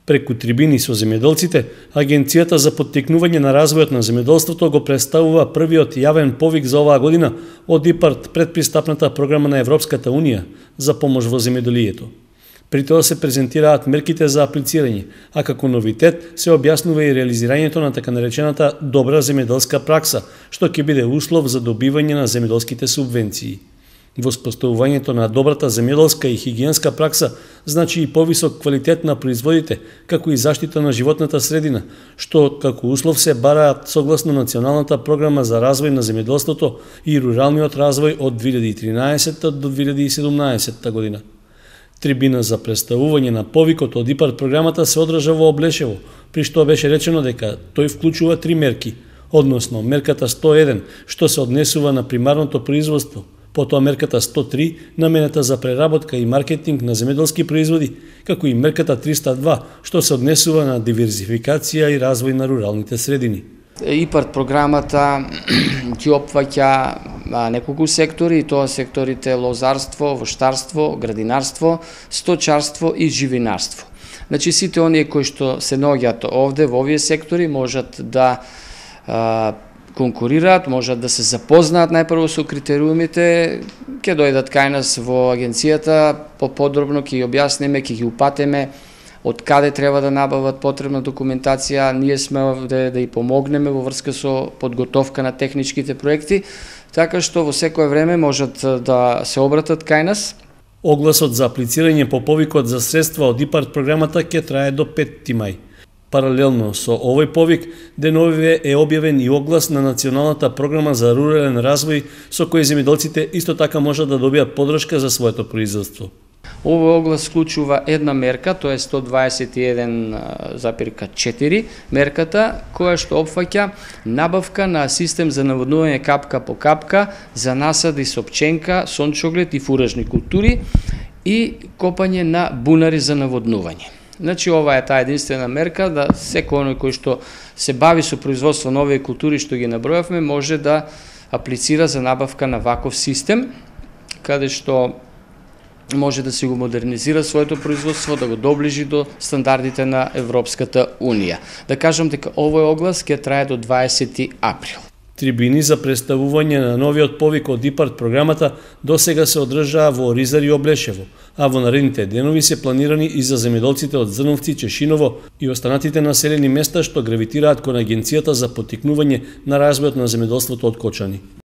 Преку трибини со земјоделците, Агенцијата за поттикнување на развојот на земјоделството го представува првиот јавен повик за оваа година од ИПАРД предпристапната програма на Европската Унија за помош во земјоделието. При тоа се презентираат мерките за аплицирање, а како новитет се објаснува и реализирањето на така наречената добра земјоделска пракса, што ќе биде услов за добивање на земјоделските субвенции. Воспоставувањето на добрата земјоделска и хигиенска пракса значи и повисок квалитет на производите, како и заштита на животната средина, што како услов се бараат согласно Националната програма за развој на земјоделството и руралниот развој од 2013 до 2017 година. Трибина за представување на повикот од ИПАРД програмата се одржа во Облешево, при што беше речено дека тој вклучува 3 мерки, односно мерката 101, што се однесува на примарното производство, потоа мерката 103, намената за преработка и маркетинг на земјоделски производи, како и мерката 302, што се однесува на диверзификација и развој на руралните средини. ИПАРД програмата ќе опфаќа неколку сектори, и тоа секторите лозарство, воштарство, градинарство, сточарство и живинарство. Значи сите оние кои што се наоѓаат овде во овие сектори можат да конкурираат, можат да се запознаат најпрво со критериумите, ќе дојдат кај нас во агенцијата, поподробно ќе ги објасниме, ќе ги упатиме од каде треба да набават потребна документација, ние сме овде да и помогнеме во врска со подготовка на техничките проекти, така што во секое време можат да се обратат кај нас. Огласот за аплицирање по повикот за средства од ИПАРД програмата ќе трае до 5 мај. Паралелно со овој повик, деновиве е објавен и оглас на Националната програма за рурален развој, со кој земјоделците исто така можат да добијат подршка за своето производство. Овој оглас вклучува една мерка, тоа е 121,4 мерката, која што опфаќа набавка на систем за наводнување капка по капка за насади со пченка, сончоглед и фуражни култури и копање на бунари за наводнување. Значи, ова е таа единствена мерка да секој оној кој што се бави со производство на овие култури што ги набројавме може да аплицира за набавка на ваков систем, каде што може да се го модернизира своето производство, да го доближи до стандардите на Европската Унија. Да кажам дека овој оглас ќе трае до 20 април. Трибини за представување на новиот повик од ИПАРД програмата досега се одржаа во Оризар и Облешево, а во наредните денови се планирани и за земјоделците од Зрновци, Чешиново и останатите населени места што гравитираат кон Агенцијата за поттикнување на развојот на земјоделството од Кочани.